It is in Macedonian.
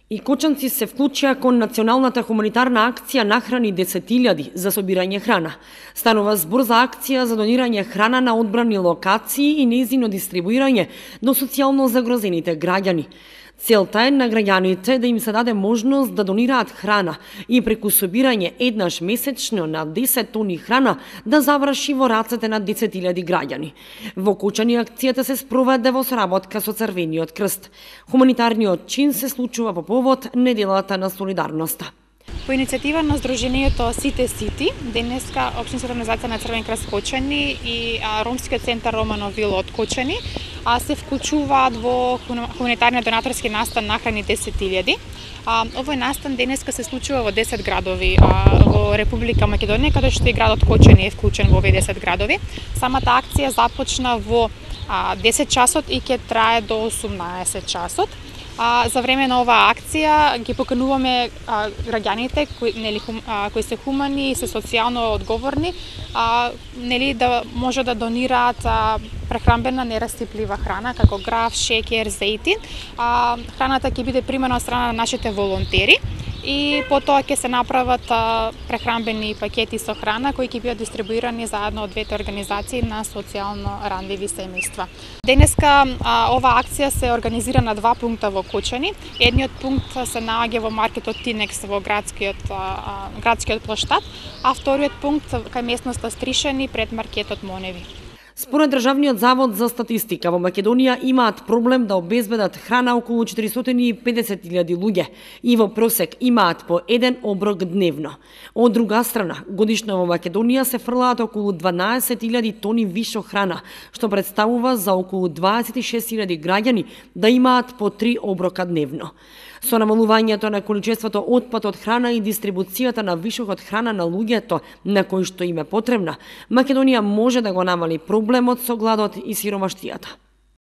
И Кочанци се вклучија кон националната хуманитарна акција Нахрани 10.000 за собирање храна. Станува збор за акција за донирање храна на одбрани локации и нејзино дистрибуирање до социјално загрозените граѓани. Целта е на граѓаните да им се даде можност да донираат храна и преку собирање еднаш месечно на 10 тони храна да заврши во рацете на 10.000 граѓани. Во Кочани акцијата се спроведе во соработка со Црвениот крст. Хуманитарниот чин се случува по повод неделата на солидарноста. По иницијатива на Сдруженијето Сите Сити, денеска Општинската организација на Црвен крст Кочани и Ромскиот центар Романовил од Кочани се вклучуваат во хуманитарниот донаторски настан Нахрани 10.000. Овој настан денеска се случува во 10 градови во Република Македонија, каде што и градот Кочани е вклучен во овие 10 градови. Самата акција започна во 10 часот и ќе трае до 18 часот. За време на оваа акција ги покануваме граѓаните кои се хумани и се социјално одговорни, да може да донираат прехранбена нерастиплива храна како граф, шеќер, зејтин. Храната ќе биде примена од страна на нашите волонтери и потоа ќе се направат прехранбени пакети со храна кои ќе бидат дистрибуирани заедно од двете организации на социјално ранливи семејства. Денеска оваа акција се организира на два пункта во Кочани. Едниот пункт се наоѓа во маркетот Тинекс во градскиот плоштад, а вториот пункт кај местноста Стришани пред маркетот Моневи. Според Државниот завод за статистика, во Македонија имаат проблем да обезбедат храна околу 450.000 луѓе и во просек имаат по еден оброк дневно. Од друга страна, годишно во Македонија се фрлаат околу 12.000 тони вишо храна, што представува за околу 26.000 граѓани да имаат по 3 оброка дневно. Со намалувањето на количеството отпад од храна и дистрибуцијата на вишокот храна на луѓето на кои што им е потребна, Македонија може да го намали проблемот со гладот и сиромаштијата.